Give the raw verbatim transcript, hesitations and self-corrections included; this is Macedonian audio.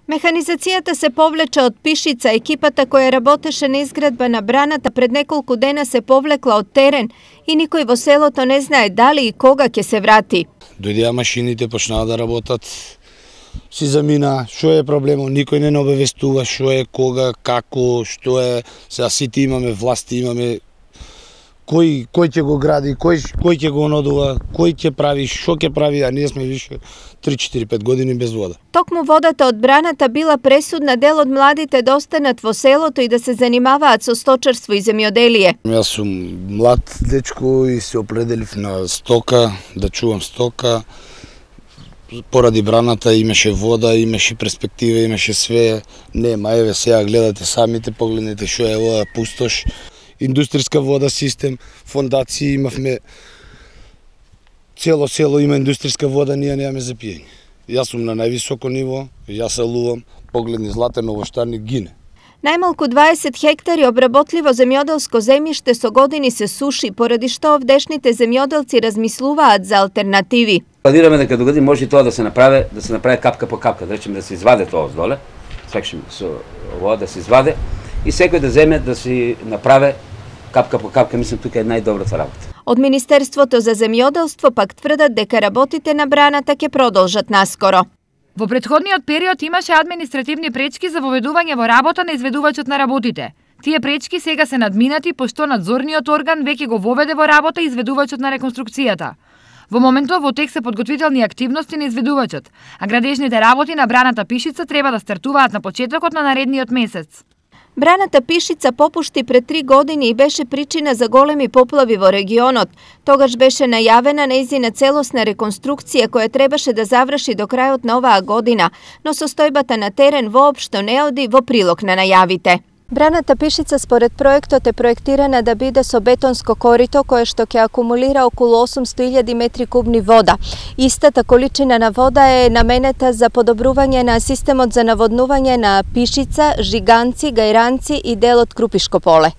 Механизацијата се повлече од Пишица. Екипата која работеше на изградба на браната пред неколку дена се повлекла од терен и никој во селото не знае дали и кога ќе се врати. Дојдеа машините, почнаа да работат, си замина, што е проблемот, никој не обавестува што е, кога, како, што е, сега сите имаме власти, имаме кој кој ќе го гради, кој кој ќе го онодува, кој ќе прави, што ќе прави, а ние сме више три четири пет години без вода. Токму водата од браната била пресудна дел од младите да останат во селото и да се занимаваат со сточарство и земјоделие. Јас сум млад дечко и се определив на стока, да чувам стока. Поради браната имаше вода, имаше перспектива, имаше све. Нема, еве сега гледате самите, погледнете што е ова пустош. Индустријска вода систем, фондации имавме, цело село има индустријска вода, ние немаме за пиење. Јас сум на највисоко ниво, јас се лувам, погледни Златен овоштарник гине. Најмалку дваесет хектари обработливо земјоделско земјиште со години се суши, поради што овдешните земјоделци размислуваат за алтернативи. Планираме дека до година може и тоа да се направи, да се направи капка по капка, да речеме да се изваде тоа оздоле, секшн со вода да се изваде и секој да земе да си направи капка по капка, мислам тука е најдобрата работа. Од Министерството за земјоделство пак тврдат дека работите на браната ќе продолжат наскоро. Во претходниот период имаше административни пречки за воведување во работа на изведувачот на работите. Тие пречки сега се надминати, пошто надзорниот орган веќе го воведе во работа изведувачот на реконструкцијата. Во моментов во тек се подготвителни активности на изведувачот, а градежните работи на браната Пишица треба да стартуваат на почетокот на наредниот месец. Браната Пишица попушти пред три години и беше причина за големи поплави во регионот. Тогаш беше најавена нејзина целосна реконструкција која требаше да заврши до крајот на оваа година, но состојбата на терен воопшто не оди во прилог на најавите. Браната Пишица според проектот е проектирана да биде со бетонско корито кое што ќе акумулира околу осумсто илјади метри кубни вода. Истата количина на вода е наменета за подобрување на системот за наводнување на Пишица, Жиганци, Гајранци и дел од Крупишко поле.